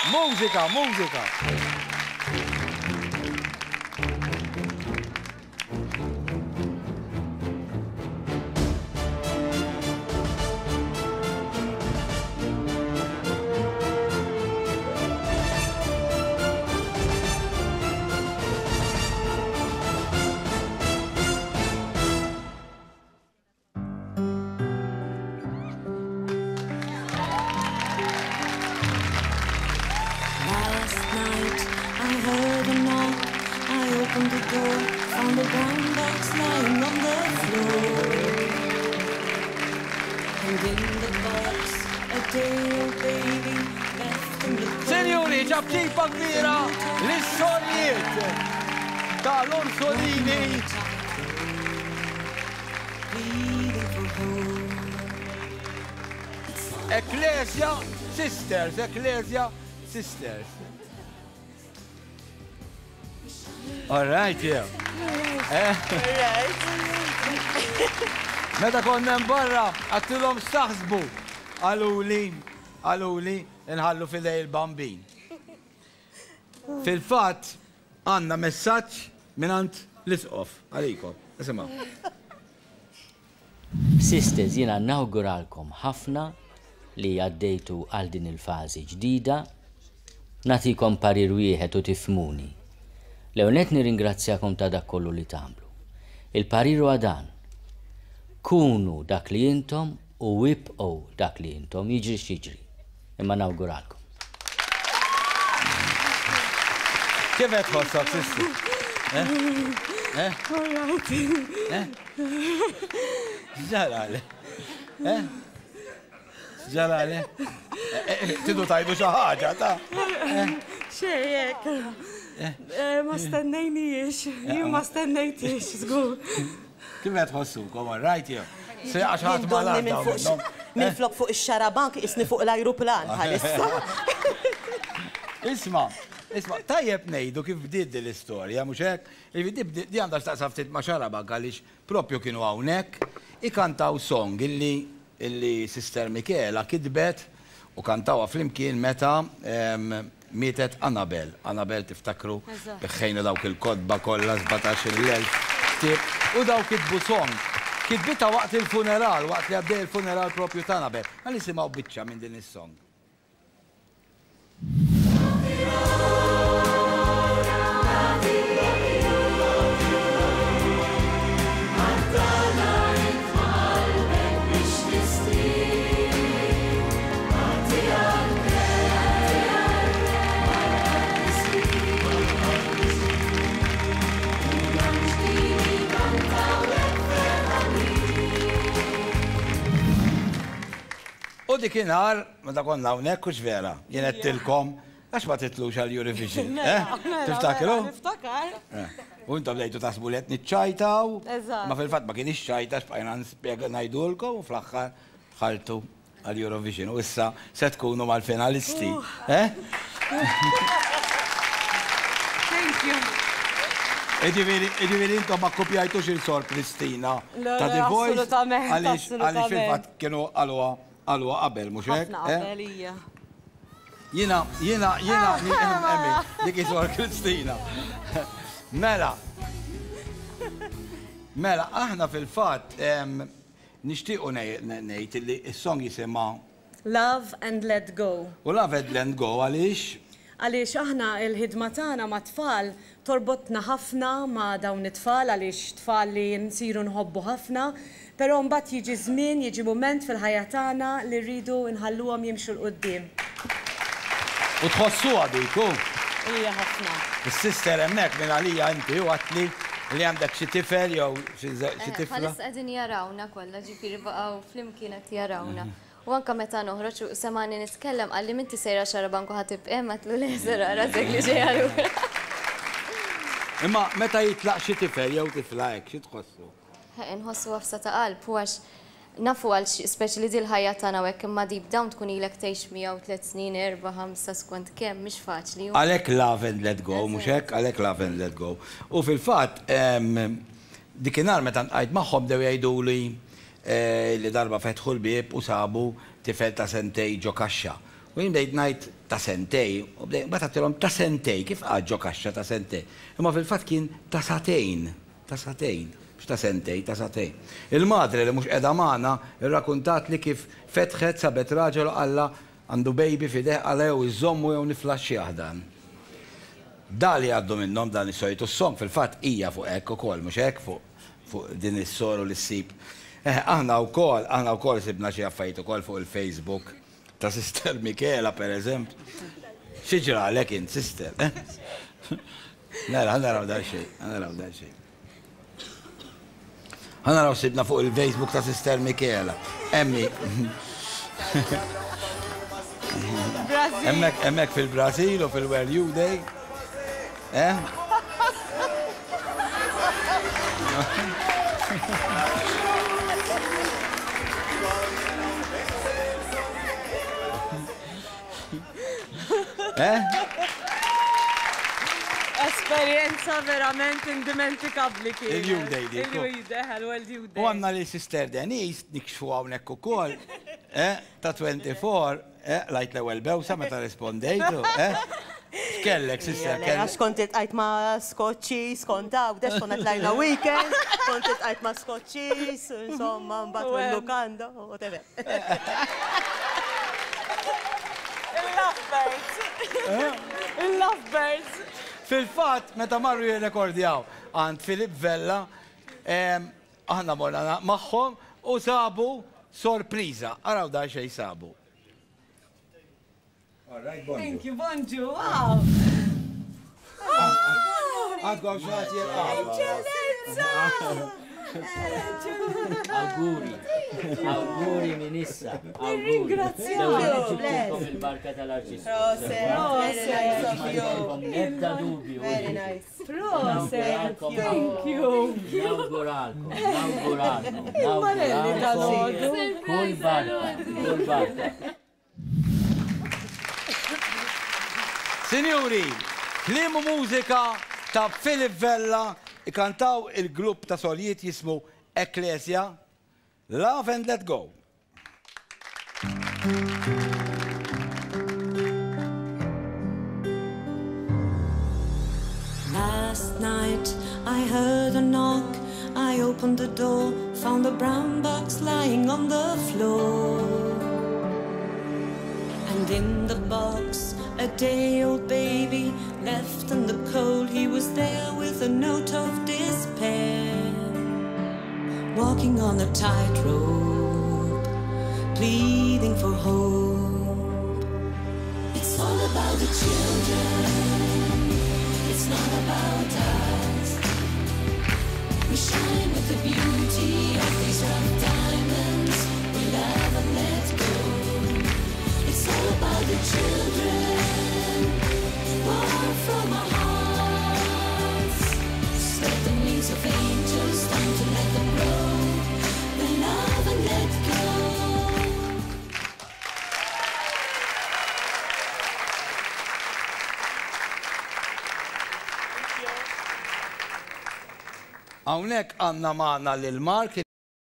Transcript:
Mużika, mużika. Last night I heard a knock. I opened the door, found a brown box lying on the floor. And in the box, a day-old baby left in the cold. Sinjuri, ċapċipa kbira lis-sorijiet ta' l-Orsolini. Ecclesia Sisters, Ecclesia Sisters. All right, yeah. Eh? Meta konna barra, għattilhom saħsbu, għaluli, għaluli, nħallu fidej il-bambin. Fil-fatt, għandna messaġġ mingħand l-Isqof għalikom. Isimgħu. Sisters, jiena nawguralkom ħafna li għaddejtu għal din il-fażi ġdida. Nagħtikom parir wieħed u tifhmuni. L-ewwel nett nirringrazzjakom ta' dak kollu li tagħmlu. Il-parir huwa dan, Kunu dak li intom u ibqgħu dak li intom, jiġri x'jiġri. Imma nawguralkom. Kif qed tħossok, sister? Eh? Eh? Eh? X'ġarali? Eh? X'ġarali? Tidu tajdu xi ħaġa, ta' Xejn hekk. Ma stennejnijiex, jien ma stennejtix, żgur. Kif qed tħossukom, all right jew? Se għax ħadd ma laqgħu. Minflok fuq ix-xarabank isni fuq l-ajruplan bħalissa. Isma', isma', tajjeb ngħidu kif bdiet din l-istorja, mhux hekk? Jiġifieri di għandha x'taqsam ftit ma' xarabank għaliex propju kienu hawnhekk ikantaw song illi illi Sister Michela kitbet u kantawha flimkien meta mietet Annabel. Annabel tiftakru biħħejna dawk il-kotba kollha 17,000 ktieb u dawk kitbu song. Kitbitha waqt il-funeral, waqt li għaddej il-funeral propju ta' Annabel. Ħa nisimgħu biċċa minn din is-song. U dikinhar Meta konna hawnhekk hux vera, jien għedtilkom għax ma titlux għal Eurovision. Eh? Tiftakru? Niftakar. Eh. U intom bdejtu taħsbu li qed niċċajtaw. Eżatt. Ma fil-fatt ma kienx ċajta x'bqajna nispjega ngħidulkom u fl-aħħar dħaltu għal Eurovision u issa se tkunu mal-finalisti. Eh? Thank you. Iġifieri intom ma kkupjajtux il-Sor Kristina ta' The Voice. Assolutament. Għaliex fil-fatt kienu qaluha Qalwa qabel, mhux hekk? Ħafna qabel, hija. Jiena, jiena, jiena, emmi, dik hi Sor Kristina. Mela, mela, aħna fil-fatt nixtiequ ngħid li s-song jisimha Love and Let Go. U Love and Let Go għaliex? Għaliex aħna l-ħidma tagħna mat-tfal torbotna ħafna ma' dawn it-tfal għaliex tfal li nsiru nħobbu ħafna, però mbagħad jiġi żmien, jiġi mument fil-ħajja tagħna li rridu nħalluhom jimxu 'l quddiem. U tħossuha dik, hu? Hija ħafna. Is-sister hemmhekk minn għalija inti u għedtli li għandek xi tifel jew xi tifla. Bħalissa qegħdin jarawna kollha, ġifieri baqgħu flimkien qed jarawna. U anke meta noħroġ u semagħni nitkellem qalli m'inti sejra Xarabank u ħa tibqa' hemm għedtlu le ser ara rasek li ġejja lura. Imma meta jitlaq xi tifel jew tifla hekk xi tħossu? Inħossu għafsa ta' qalb u għax nafu għal xi speċi li dil-ħajja tagħna u hekk imma deep down tkun ilek tgħix miegħu tlett snin, erbgħa, ħamsa skont kemm mhix faċli. Għalhekk love and let go mhux hekk? Għalhekk love and let go. U fil-fatt dikinhar meta ltqajt magħhom bdew jgħiduli Li darba fetħu l-bieb u sabu tifel ta' sentejn ġo kaxxa. U jien bdejt ngħid ta' sentej, u bdejt mbagħad għedtilhom ta' sentej, kif qagħad ġo kaxxa ta' sentej? Imma fil-fatt kien ta' sagħtejn, ta' sagħtejn, mhux ta' sentej, ta' sagħtejn. Il-madre li mhux qiegħda magħna rrakuntatli kif fetħet sabet raġel u qallha għandu baby f'idejh qallha jew iżżommu jew niflaxxjah dan. Da li jgħaddu minnhom dan is-sorijiet u s-song fil-fatt hija fuq hekk ukoll, mhux hekk? Fuq fuq din is-soru li ssib. Eħe, aħna wkoll, aħna wkoll sibna xi affarijiet ukoll fuq il-Facebook ta' Sister Michela per eżempju. Xi ġralek int, Sister? Eh? Nara, ħa naraw daqsxejn, ħa naraw daqsxejn. Ħa naraw sibna fuq il-Facebook ta' Sister Michela. Emmi. Hemmhekk hemmhekk fil-Brażil u fil-World Youth Day. Eh? Eh? Esperjenza verament indimentikabbli kienet. Il-Youth Day dik. Il-Youth Day, il-World Youth Day. U għandna lil Sister Denise nikxfu hawnhekk ukoll, eh, ta' 24, eh, lajt l-ewwel bewsa meta rispondejtu, eh? X'kellek, sister? Le, għax kont iltqajt ma' Skoċċiż, kont Għawdex, konna tlajna weekend, kont iltqajt ma' Skoċċiż, insomma, mbagħad mil-lukanda, whatever. Il-lovebirds. Il-lovebirds. Fil-fatt, meta marru jirrekordjaw għand Philip Vella, aħna morna magħhom u sabu sorpriża. Araw dan xejn sabu. All right, bonġu. Thank you, bonġu, wow. Għandkom xi ħadd jilqa'. Eċċellenza! Awguri, awguri minn issa. Nirringrazzjak. Il-barka tal-Arċisqof. Ebda dubju. Very nice. Proset. Thank you. Nawguralkom, nawguralkom. Il-Marelli tal-ħodu. Kull barka, kull barka. Sinjuri, kliem u mużika ta' Philip Vella ikantaw il-grupp ta' soljiet jismu Ecclesia, Love and Let Go. Last night I heard a knock. I opened the door, found a brown box lying on the floor. And in the box, a day old baby left in the cold. He was there with a note of despair. Walking on a tightrope, pleading for hope. It's all about the children. It's not about us. We shine with the beauty of these rough diamonds. We love and let go. It's all about the children, born from our hearts. Spread the wings of angels, time to let them grow. We love and let go. Hawnhekk għandna magħna lil Mark.